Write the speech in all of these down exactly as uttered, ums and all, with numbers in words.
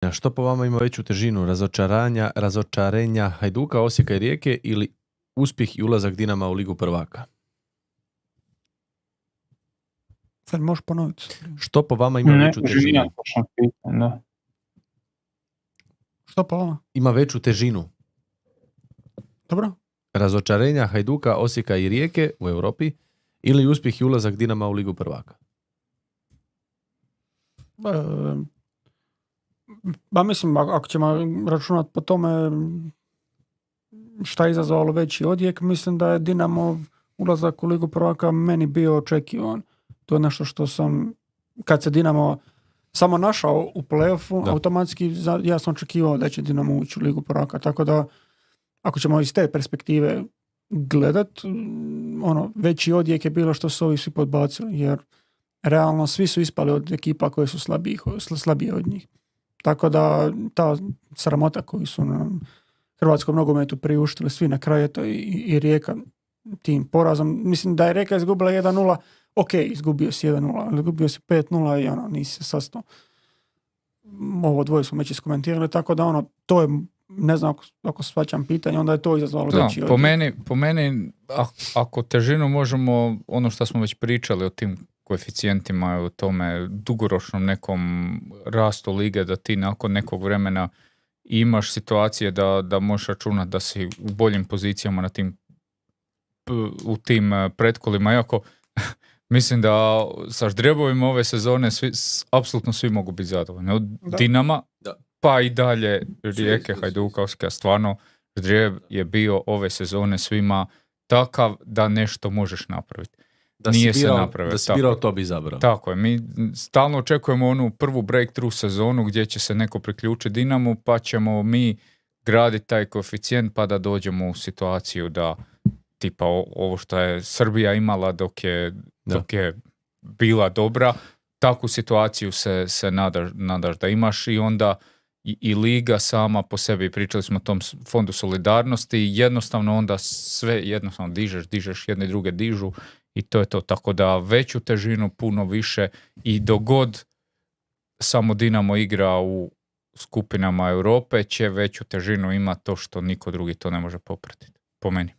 A što po vama ima veću težinu? Razočaranja, razočarenja Hajduka, Osijeka i Rijeke ili uspjeh i ulazak Dinama u Ligu prvaka? Sad možeš ponoviti. Što po vama ima ne, veću težinu? Pitanje, da. Što po vama? Ima veću težinu. Dobro. Razočarenja Hajduka, Osijeka i Rijeke u Europi ili uspjeh i ulazak Dinama u Ligu prvaka? E, ba mislim, ako ćemo računati po tome šta je izazvalo veći odjek, mislim da je Dinamo ulazak u Ligu prvaka meni bio očekivan. To je nešto što sam, kad se Dinamo samo našao u play-offu, da. automatski ja sam očekivao da će Dinamo ući u Ligu prvaka. Tako da, ako ćemo iz te perspektive gledat, ono, veći odjek je bilo što su ovi svi podbacili, jer realno svi su ispali od ekipa koje su slabije, slabije od njih. Tako da ta sramota koju su na hrvatskom nogometu priuštili svi na kraju, to i, i Rijeka tim porazom. Mislim da je Rijeka izgubila jedan nula, ok, izgubio si jedan nula, ali izgubio si pet nula i ono, nisi se sastao. Ovo dvoje smo već iskomentirali, tako da ono, to je, ne znam ako, ako shvaćam pitanje, onda je to izazvalo da, veći po meni, po meni, ako težinu možemo, ono što smo već pričali o tim koeficijentima, o tome dugoročnom nekom rastu lige, da ti nakon nekog vremena imaš situacije da, da možeš računati da si u boljim pozicijama na tim, u tim pretkolima, iako mislim da sa Ždrijebovima ove sezone svi, apsolutno svi mogu biti zadovoljni. Od da. Dinama da. pa i dalje Rijeke, Hajduka, Osijeka, stvarno Ždrijeb je bio ove sezone svima takav da nešto možeš napraviti. Da Nije birao, se napravio. Da si birao, to bi izabrao. Tako je. Mi stalno očekujemo onu prvu breakthrough sezonu gdje će se neko priključiti Dinamu, pa ćemo mi graditi taj koeficijent pa da dođemo u situaciju da tipa ovo što je Srbija imala dok je, dok je bila dobra, takvu situaciju se, se nadaš, nadaš da imaš i onda i, i liga sama po sebi, pričali smo o tom fondu solidarnosti, jednostavno onda sve jednostavno dižeš, dižeš, jedne i druge dižu i to je to. Tako da veću težinu, puno više i dogod samo Dinamo igra u skupinama Europe će veću težinu ima to što niko drugi to ne može popratiti. Po meni.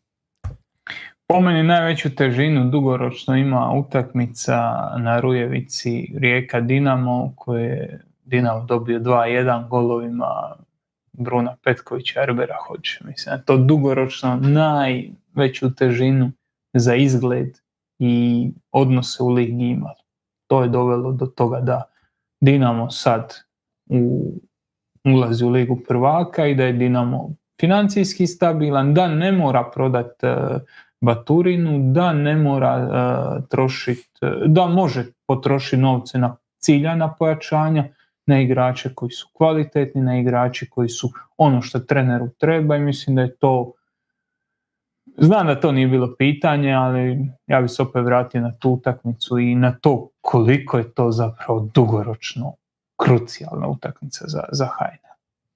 Po meni najveću težinu dugoročno ima utakmica na Rujevici Rijeka Dinamo, koje je Dinamo dobio dva jedan golovima Bruna Petkovića, Erbera Hođe. Mislim, to dugoročno najveću težinu za izgled i odnose u ligi imalo. To je dovelo do toga da Dinamo sad u, ulazi u Ligu prvaka i da je Dinamo financijski stabilan, da ne mora prodati uh, Baturinu, da ne mora uh, trošiti, uh, da može potrošiti novce na ciljana pojačanja, na igrače koji su kvalitetni, na igrače koji su ono što treneru treba i mislim da je to, znam da to nije bilo pitanje, ali ja bih se opet vratio na tu utakmicu i na to koliko je to zapravo dugoročno krucijalna utakmica za, za Hajne.